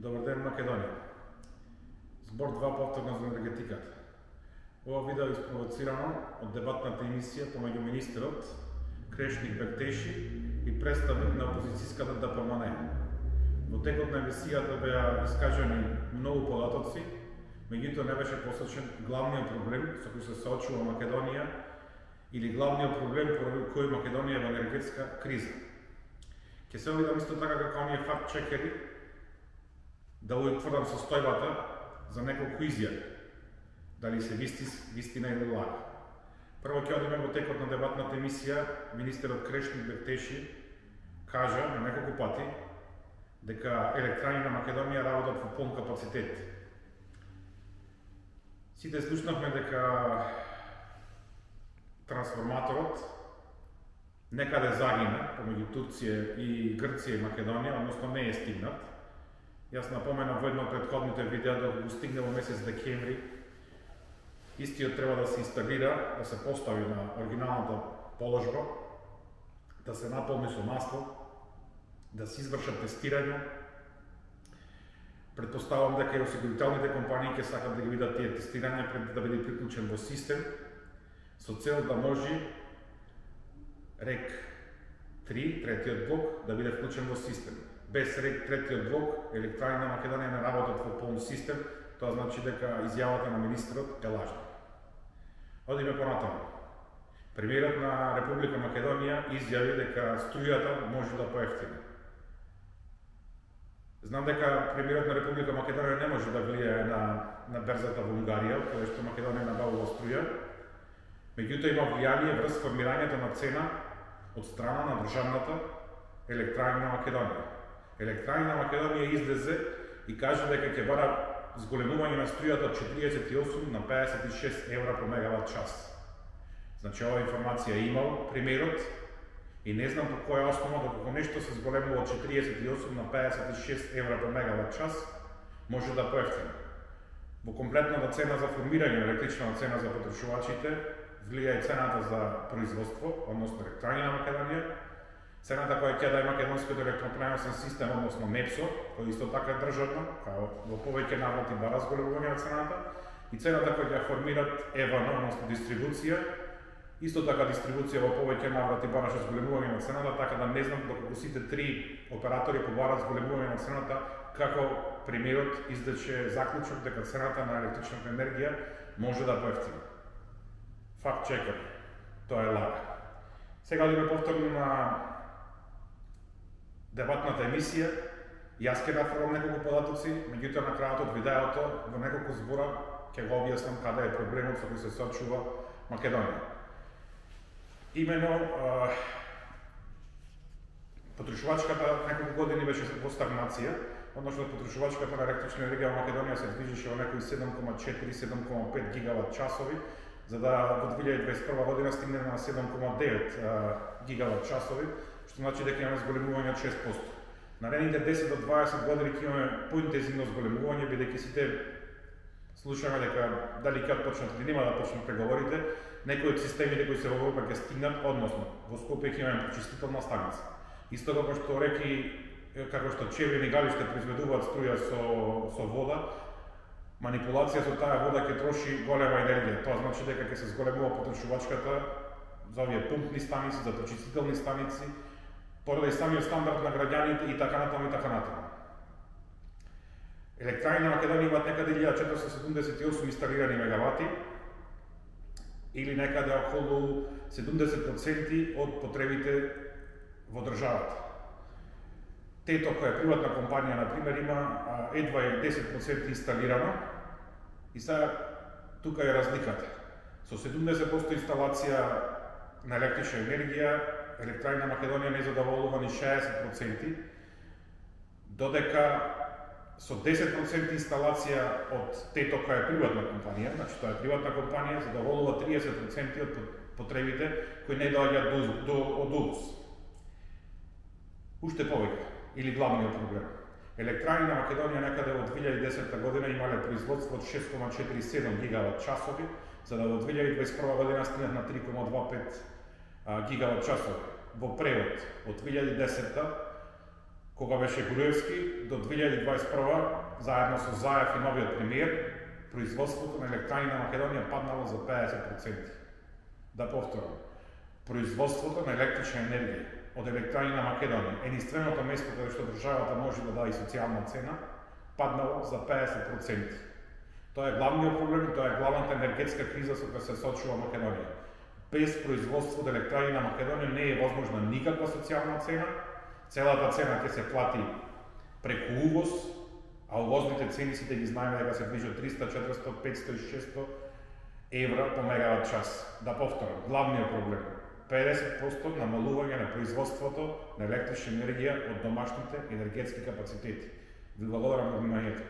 Добар ден, Македонија. Збор 2 повторно за енергетиката. Ова видео е испровоцирано од дебатната емисија помеѓу министерот Крешник Бектеши и представник на опозицијската ДПМН. Во текот на емисијата беа искажани многу податоци, меѓутоа не беше посочен главниот проблем со кој се соочува Македонија или главниот проблем поради кој Македонија е во енергетска криза. Ќе се обидам исто така како оние факт-чекери да утврдам состојбата за неколку изјави, дали се вистина или лага. Прво ќе одиме во текот на дебатната емисија, министерот Крешник Бектеши кажа на неколку пати дека електрани на Македонија работат во полн капацитет. Сите слушнавме дека трансформаторот некаде загина помеѓу Турција и Грција и Македонија, односно не е стигнат. Јас напоменав во едно од претходните видеа да го стигне во месец декември. Истиот треба да се инсталира, да се постави на оригиналната положба, да се наполни со масло, да се извршат тестирања. Предпоставам дека и осигурителните компании ќе сакат да ги видат тие тестирања пред да биде приклучен во систем, со цел да може РЕК 3, третиот блок, да биде вклучен во систем. Без РЕК третиот блок, електрани на Македонија не работат во полн систем, тоа значи дека изјавата на министерот е лажна. Одиме понатаму. Премиерот на Република Македонија изјави дека струјата може да поевтини. Знам дека премиерот на Република Македонија не може да влијае на берзата во Унгарија, каде што Македонија набавува струја, меѓутоа има влијание врз формирањето на цена од страна на државната електрани на Македонија. Електрани на Македонија излезе и кажа дека ќе бара зголемување на струјата од 48 на 56 евра по мегават час. Значи, ова информација имал премиерот и не знам по која основа доколку нешто се зголемува од 48 на 56 евра по мегават час, може да поевтини. Во комплетната цена за формирање на електрична цена за потрошувачите влија и цената за производство, односно електрани на Македонија, цената која ќе даде македонскиот електропреносен систем, односно МЕПСО, кој исто така е државна, во повеќе наврати бара зголемување на цената, и цената која ќе формират ЕВН, односно дистрибуција, исто така дистрибуција во повеќе наврати бараше зголемување на цената, така да не знам доколку сите три оператори побарат зголемување на цената, како премиерот издече заклучок дека цената на електричната енергија може да поевтини. Факт чекер, тоа е лага. Сега одиме повторно на дебатната емисија. Јас ќе нафрлам неколку податоци, меѓутоа на крајот од видеото во неколку збора ќе го објаснам каде е проблемот со кој се соочува Македонија. Имено потрошувачката неколку години беше во стагнација, односно потрошувачката на електрична енергија во Македонија се движеше во некои 7,4-7,5 гигават часови, за да во 2021 година стигне на 7,9 гигават часови, што значи дека имаме зголемување од 6%. Наредните 10 до 20 години ќе имаме поинтензивно зголемување, бидејќи сите слушаме дека дали ќе почнат или нема да почнат преговорите, некои од системите кои се во Европа ќе стигнат, односно во Скопје ќе имаме пречистителна станица. Исто како што реки, како што Чевлин и Галиште произведуваат струја со вода, манипулација со таа вода ќе троши голема енергија. Тоа значи дека ќе се зголемува потрошувачката за овие пумпни станици, за пречистителни станици, поради самиот стандард на граѓаните и така натаму и така натаму. Електрани на Македонија имаат некаде 1478 инсталирани мегавати или некаде околу 70% од потребите во државата. Тето, која е приватна компанија, например, има едва 10% инсталирано и сега тука е разликата. Со 70% инсталација на електрична енергија, електрани на Македонија не задоволувани 60%, додека со 10% инсталација од тето која е приватна компанија, значи тоа е приватна компанија, задоволува 30% од потребите кои не доаѓаат од увоз. Уште повеќе, или главниот проблем. Електрани на Македонија некаде во 2010 година имале производство од 6,47 гигават часови, за да во 2021 година стигнат на 3,25 гигават часови. Во превод, од 2010 кога беше Груевски, до 2021 заедно со Заев и новиот премиер, производството на електрани на Македонија паднало за 50%. Да повторам, производството на електрична енергија од електрани на Македонија, единственото место каде што државата може да даде социјална цена, паднало за 50%. Тоа е главниот проблем и тоа е главната енергетска криза со која се соочува Македонија. Без производство од електрани на Македонија не е возможна никаква социјална цена. Целата цена ќе се плати преку увоз, а увозните цени сите ги знаеме дека се движат 300, 400, 500 и 600 евра по мегават час. Да повторам, главниот проблем 50% намалување на производството на електрична енергија од домашните енергетски капацитети. Ви благодарам на вниманието.